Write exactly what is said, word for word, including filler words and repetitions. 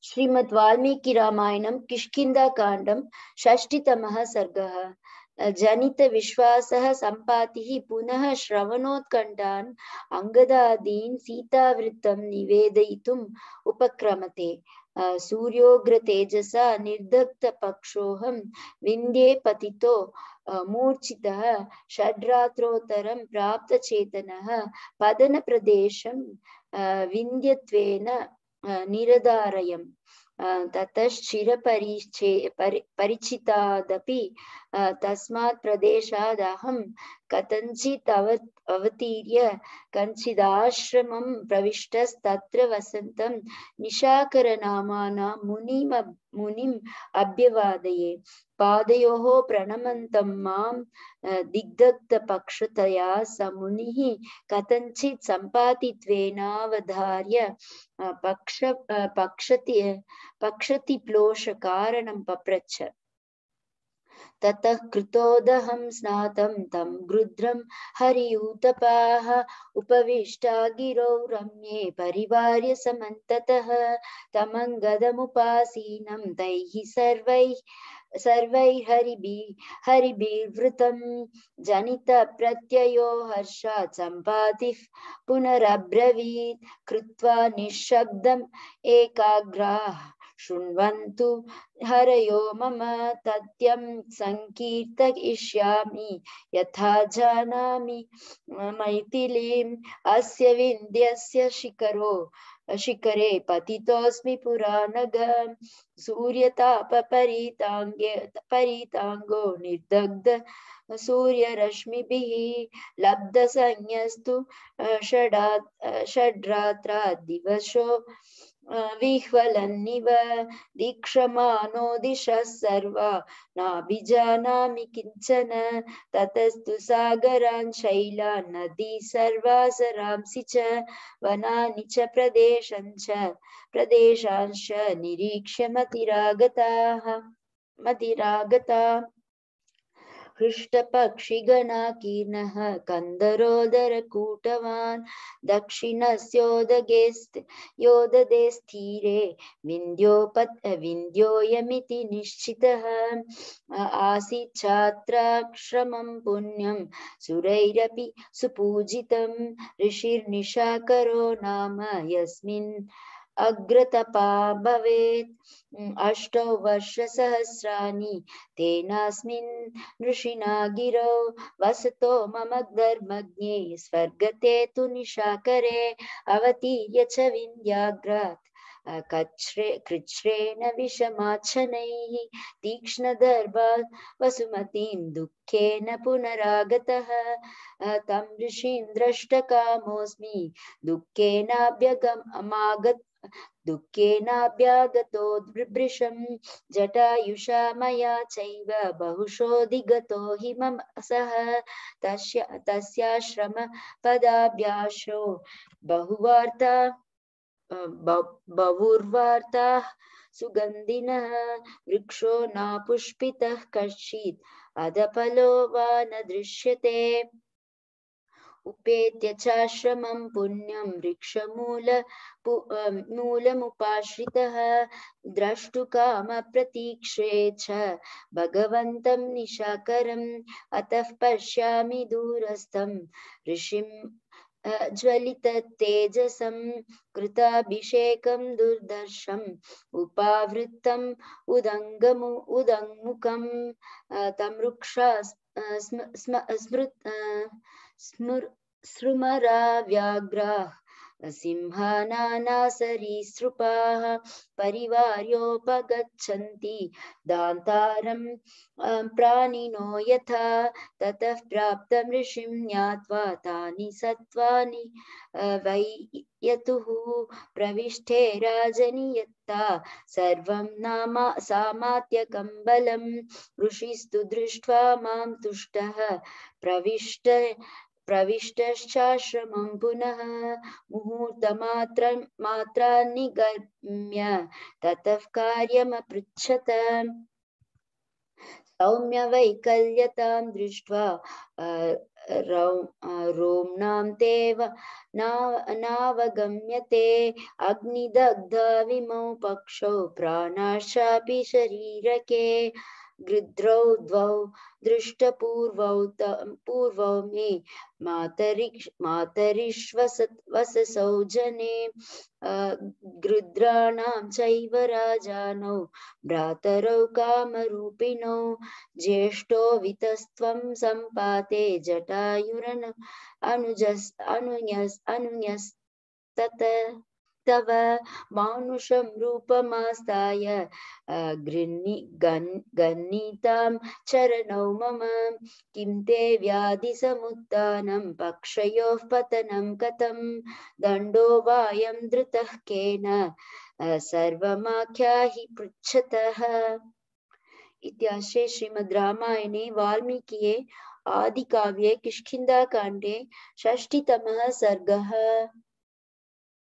श्रीमद् वाल्मीकि रामायणं किष्किन्धाकाण्डं षष्टितमः सर्गः। जनित विश्वासः सम्पातिः पुनः श्रवणोत्कण्ठान् अङ्गदादीन् सीतावृत्तं निवेदयितुम् उपक्रमते। सूर्योग्रतेजसा निर्दग्धपक्षोऽहं विन्ध्ये पतितो मूर्छितः षड्रात्रोत्तरं प्राप्तचेतनः पतनप्रदेशं विन्ध्यत्वेन निरधारयम्। ततश्चिरपरिचे परि परिचितादपि तस्मात् प्रदेशात् अहं कथञ्चित् अव अवतीर्य कञ्चिदाश्रमं प्रविष्टस्तत्र वसन्तं निशाकरनामाना मुनिम् मुनिम् अभ्यवादये। पादयोः प्रणमन्तं मां दिग्दग्धपक्षतया स मुनिः कथञ्चित् सम्पातित्वेनावधार्य पक्ष पक्षति पक्षतिप्लोषकारणं पप्रच्छ। ततः कृतोदहं स्नातं तं गृध्रं हरियूतपाः उपविष्टा गिरौ रम्ये परिवार्य समन्ततः तमङ्गदमुपासीनं तैः सर्वैः सर्वैर्हरिभिः हरिभिर्वृतं जनितप्रत्ययो हर्षात् सम्पातिः पुनरब्रवीत् कृत्वा निःशब्दम् एकाग्राः शृण्वन्तु हरयो मम तथ्यं संकीर्तयिष्यामि यथा जानामि मैथिलीम् अस्य विन्ध्यस्य शिखरो शिखरे पतितोऽस्मि पुरानघ सूर्यतापपरीताङ्गे परिताङ्गो निर्दग्ध सूर्यरश्मिभिः लब्धसंज्ञस्तु षडा षड्रात्रा दिवसो विह्वलन्निव दीक्षमानो दिशः सर्वा नाभिजानामि किञ्चन ततस्तु सागरान् शैलान् नदी सर्वा सरांसि च वनानि च प्रदेशञ्च प्रदेशांश्च निरीक्ष्य मतिरागताः मतिरागता हृष्टपक्षिगणाकीर्णः कन्दरोदरकूटवान् दक्षिणस्योदगे योददे स्थिरे विन्ध्योपत् विन्ध्योऽयमिति निश्चितः आसीत् छात्राश्रमं पुण्यं सुरैरपि सुपूजितं ऋषिर्निशाकरो नाम यस्मिन् अग्रतपा भवेत् अष्टौ वर्षसहस्राणि तेनास्मिन् ऋषिणा गिरौ वसतो मम धर्मज्ञे स्वर्गते तु निशाकरे अवतीर्य च विन्ध्याग्रात् कच्छ्रे कृच्छ्रेण विषमाच्छनैः तीक्ष्णदर्भा वसुमतीं दुःखेन पुनरागतः तं ऋषिं द्रष्टकामोऽस्मि दुःखेनाभ्यगमागत दुःखेनाभ्यागतो वृषं जटायुषा मया चैव बहुशोऽधिगतो हि मम सः तस्य तस्याश्रम पदाभ्यासो बहुवार्ता बहुर्वार्ताः सुगन्धिनः वृक्षो नापुष्पितः कश्चित् अधफलो वा न दृश्यते उपेत्य चाश्रमं पुण्यं वृक्षमूल मूलमुपाश्रितः द्रष्टुकामप्रतीक्षे च भगवन्तं निशाकरम् अतः पश्यामि दूरस्थं ऋषिं ज्वलिततेजसं कृताभिषेकं दुर्दर्शम् उपावृत्तम् उदङ्गमु उदङ्मुखं तं वृक्षा स्मृत् स्मृ स्रुमरा व्याघ्राः सिंहानासरीसृपाः परिवार्योपगच्छन्ति दान्तारं प्राणिनो यथा ततः प्राप्तं ऋषिं ज्ञात्वा तानि सत्त्वानि वै यतुः प्रविष्टे राजनियत्ता सर्वं नामा सामात्यकं बलं ऋषिस्तु दृष्ट्वा मां तुष्टः प्रविष्ट प्रविष्टश्चाश्रमं पुनः मुहूर्तमात्रं मात्रान्निगम्य ततः कार्यमपृच्छत सौम्यवैकल्यतां दृष्ट्वा रोम्णां तेव नावगम्यते अग्निदग्धविमौ पक्षौ प्राणाश्चापि शरीरके गृध्रौ द्वौ दृष्टपूर्वौ पूर्वौ मे मातरिक्ष मातरिश्वसौ जने गृध्राणां चैव राजानौ भ्रातरौ कामरूपिणौ ज्येष्ठो वितस्त्वं सम्पाते जटायुरनु अनुजस् अनुन्यस् अनुन्यस्तत तव मानुषं रूपमास्ताय गृह्णी गन्नीतां चरणौ मम किं ते व्याधिसमुत्थानं पक्षयोः पतनं कथं दण्डो वायं धृतः केन सर्वमाख्याहि पृच्छतः। इत्याश्रे श्रीमद् रामायणे वाल्मीकिये आदिकाव्ये किष्किन्धाकाण्डे षष्टितमः सर्गः।